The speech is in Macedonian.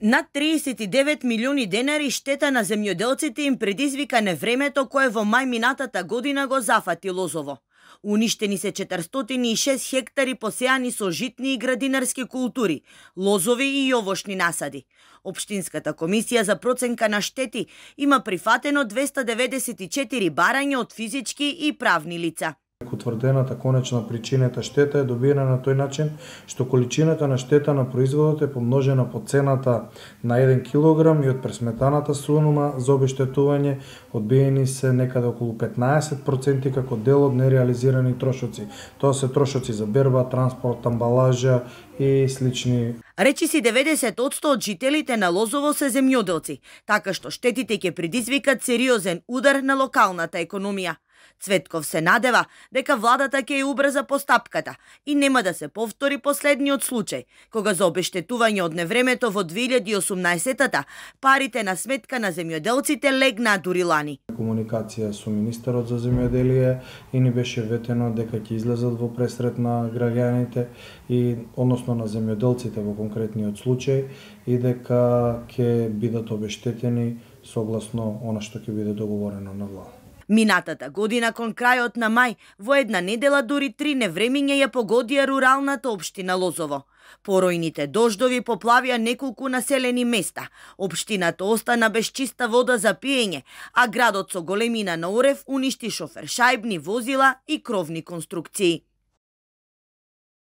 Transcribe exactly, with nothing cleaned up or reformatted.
Над триесет и девет милиони денари штета на земјоделците им предизвика невремето кое во мај минатата година го зафати Лозово. Уништени се четиристотини и шест хектари посеани со житни и градинарски култури, лозови и јовошни насади. Општинската комисија за проценка на штети има прифатено двесте деведесет и четири барања од физички и правни лица. Утврдената конечна причинета штета е добиена на тој начин што количината на штета на производот е помножена по цената на еден килограм и од пресметаната сума за обештетување одбиени се некаде околу петнаесет проценти како дел од нереализирани трошоци. Тоа се трошоци за берба, транспорт, амбалажа и слични. Речиси деветдесет одсто од жителите на Лозово се земјоделци, така што штетите ќе предизвикат сериозен удар на локалната економија. Цветков се надева дека владата ќе ја убрза постапката и нема да се повтори последниот случај, кога за обештетување од невремето во две илјади и осумнаесетта парите на сметка на земјоделците легнаа дури лани. Комуникација со министерот за земјоделие и ни беше ветено дека ќе излезат во пресрет на граѓаните и односно на земјоделците во конкретниот случај и дека ќе бидат обештетени согласно она што ќе биде договорено на влада. Минатата година кон крајот на мај, во една недела дури три невремиња ја погодија руралната општина Лозово. Поројните дождови поплавија неколку населени места. Општината остана без чиста вода за пиење, а градот со големина на орев уништи шофершајбни возила и кровни конструкции.